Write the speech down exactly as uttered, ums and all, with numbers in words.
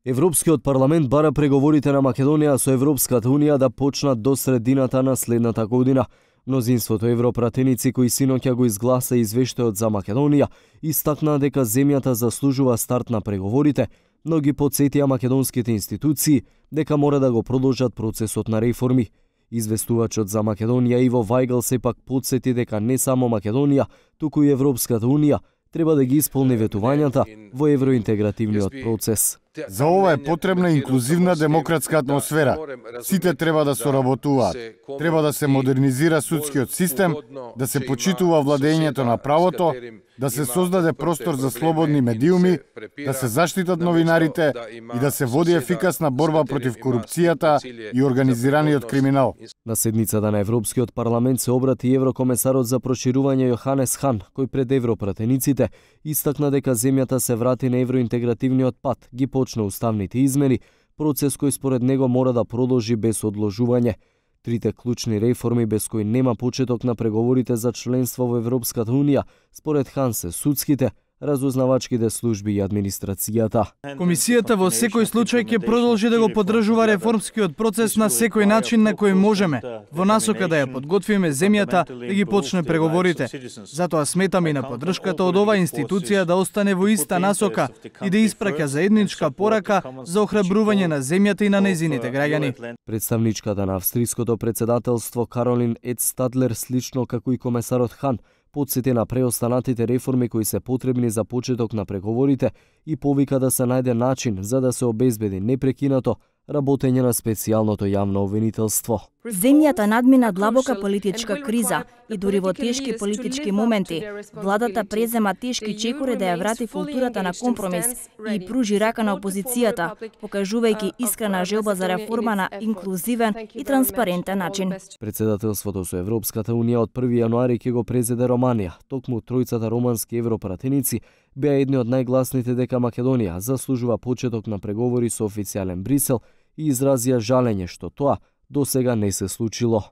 Европскиот парламент бара преговорите на Македонија со Европската унија да почнат до средината на следната година. Мнозинството европратеници кои синоќа го изгласа извештајот за Македонија истакнаа дека земјата заслужува старт на преговорите, но ги потсетија македонските институции дека мора да го продолжат процесот на реформи. Известувачот за Македонија Иво Вајгл сепак потсети дека не само Македонија, туку и Европската унија треба да ги исполни ветувањата во евроинтегративниот процес. За ова е потребна инклузивна демократска атмосфера. Сите треба да соработуваат. Треба да се модернизира судскиот систем, да се почитува владењето на правото, да се создаде простор за слободни медиуми, да се заштитат новинарите и да се води ефикасна борба против корупцијата и организираниот криминал. На седницата на Европскиот парламент се обрати еврокомесарот за проширување Јоханес Хан, кој пред европратениците истакна дека земјата се врати на евроинтегративниот пат, ги почна уставните измени, процес кој според него мора да продолжи без одложување. Трите клучни реформи без кои нема почеток на преговорите за членство во Европската унија, според Хан се судските, разузнавачките служби и администрацијата. Комисијата во секој случај ќе продолжи да го поддржува реформскиот процес на секој начин на кој можеме, во насока да ја подготвиме земјата да ги почне преговорите. Затоа сметаме и на поддршката од оваа институција да остане во иста насока и да испраќа заедничка порака за охрабрување на земјата и на нејзините граѓани. Представничката на австриското председателство Каролин Едстадлер, слично како и комесарот Хан, потсети на преостанатите реформи кои се потребни за почеток на преговорите и повика да се најде начин за да се обезбеди непрекинато работење на специјалното јавно обвинителство. Земјата надмина длабока политичка криза и дури во тешки политички моменти, владата презема тешки чекори да ја врати културата на компромис и пружи рака на опозицијата, покажувајќи искрена желба за реформа на инклузивен и транспарентен начин. Председателството со Европската унија од први јануари ќе го презеде Романија. Токму тројцата романски европратеници беа едни од најгласните дека Македонија заслужува почеток на преговори со официјален Брисел и изразија жалење што тоа досега не се случило.